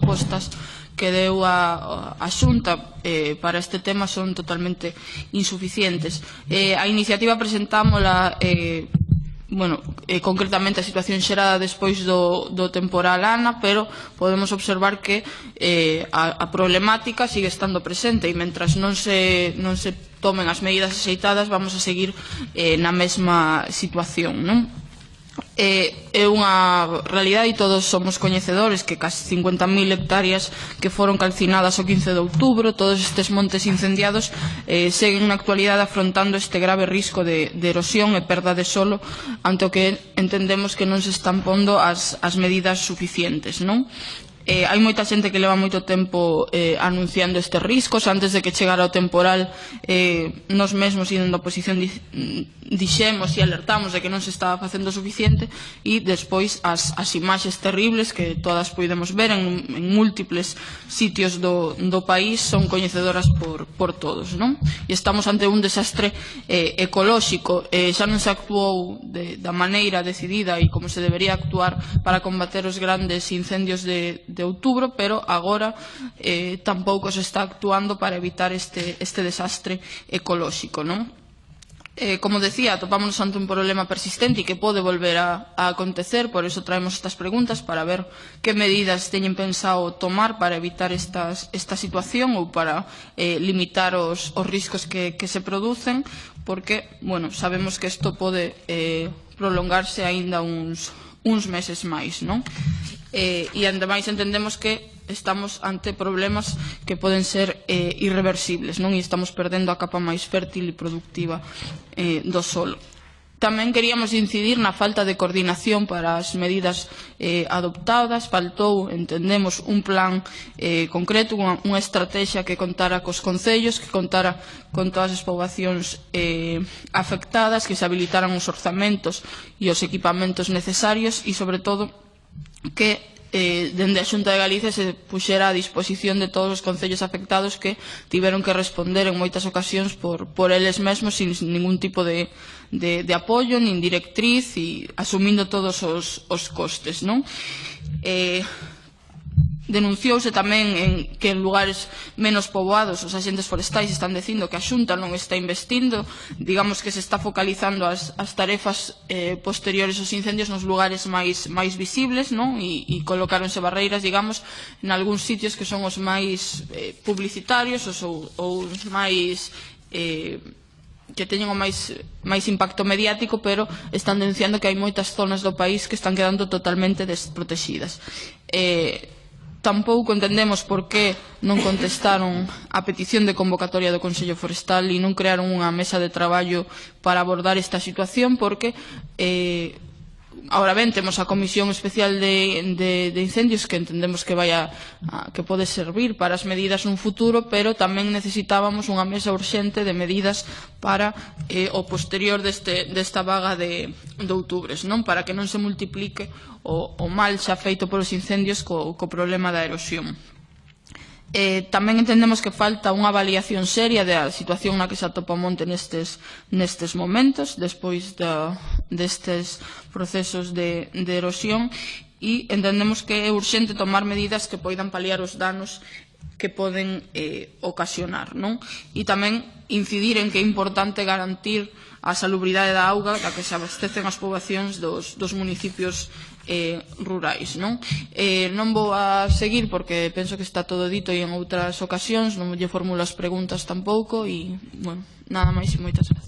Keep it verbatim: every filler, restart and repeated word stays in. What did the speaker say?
propostas que deu a, a Xunta eh, para este tema son totalmente insuficientes. Eh, a iniciativa presentámola eh, bueno, eh, concretamente a situación xerada despois do, do temporal Ana, pero podemos observar que eh, a, a problemática sigue estando presente e mentras non se, non se tomen as medidas axeitadas vamos a seguir eh, na mesma situación, non? É, é unha realidade e todos somos coñecedores que casi cincuenta mil hectáreas que foron calcinadas o quince de outubro, todos estes montes incendiados eh, seguen na actualidade afrontando este grave risco de, de erosión e perda de solo, ante o que entendemos que non se están pondo as, as medidas suficientes, non? Eh, hai moita xente que leva moito tempo eh, anunciando estes riscos. Antes de que chegara o temporal, eh, nos mesmos indo na oposición dixemos e alertamos de que non se estaba facendo suficiente, e despois as, as imaxes terribles que todas podemos ver en, en múltiples sitios do, do país son coñecedoras por, por todos, non? E estamos ante un desastre eh, ecolóxico. Eh, xa non se actuou de, da maneira decidida e como se debería actuar para combater os grandes incendios de de outubro, pero agora eh, tampouco se está actuando para evitar este, este desastre ecolóxico, non? Eh, como decía, atopámonos ante un problema persistente e que pode volver a, a acontecer, por eso traemos estas preguntas para ver que medidas teñen pensado tomar para evitar estas, esta situación ou para eh, limitar os, os riscos que, que se producen, porque, bueno, sabemos que isto pode eh, prolongarse aínda uns, uns meses máis, non? Eh, e ademais entendemos que estamos ante problemas que poden ser eh, irreversibles, non? E estamos perdendo a capa máis fértil e productiva eh, do solo. Tamén queríamos incidir na falta de coordinación para as medidas eh, adoptadas. Faltou, entendemos, un plan eh, concreto, unha, unha estrategia que contara cos concellos, que contara con todas as poboacións eh, afectadas, que se habilitaran os orzamentos e os equipamentos necesarios e, sobre todo, que eh, dende a Xunta de Galicia se puxera a disposición de todos os concellos afectados que tiveron que responder en moitas ocasións por, por eles mesmos sin ningún tipo de, de, de apoio, nin directriz e asumindo todos os, os costes, non? Eh, Denunciouse tamén en que en lugares menos poboados os axentes forestais están dicindo que a Xunta non está investindo, digamos que se está focalizando as, as tarefas eh, posteriores aos incendios nos lugares máis, máis visibles, non? E, e colocáronse barreiras, digamos, en algúns sitios que son os máis eh, publicitarios os, ou, ou os máis eh, que teñen o máis, máis impacto mediático, pero están denunciando que hai moitas zonas do país que están quedando totalmente desprotegidas. Eh, Tampouco entendemos por que non contestaron a petición de convocatoria do Consello Forestal e non crearon unha mesa de traballo para abordar esta situación, porque eh, ahora ben temos a Comisión Especial de, de, de Incendios que entendemos que vai a, a, que pode servir para as medidas nun futuro, pero tamén necesitábamos unha mesa urxente de medidas para eh, o posterior deste, desta vaga de, de outubres, non? Para que non se multiplique o, o mal xa feito polos incendios co, co problema da erosión. Eh, tamén entendemos que falta unha avaliación seria da situación na que se atopa o monte nestes, nestes momentos, despois da, destes procesos de, de erosión, e entendemos que é urxente tomar medidas que poidan paliar os danos que poden eh, ocasionar, non? E tamén incidir en que é importante garantir a salubridade da auga da que se abastecen as poboacións dos, dos municipios eh, rurais, non? Eh, non vou a seguir porque penso que está todo dito e en outras ocasións non lle formulo as preguntas tampouco e, bueno, nada máis e moitas gracias.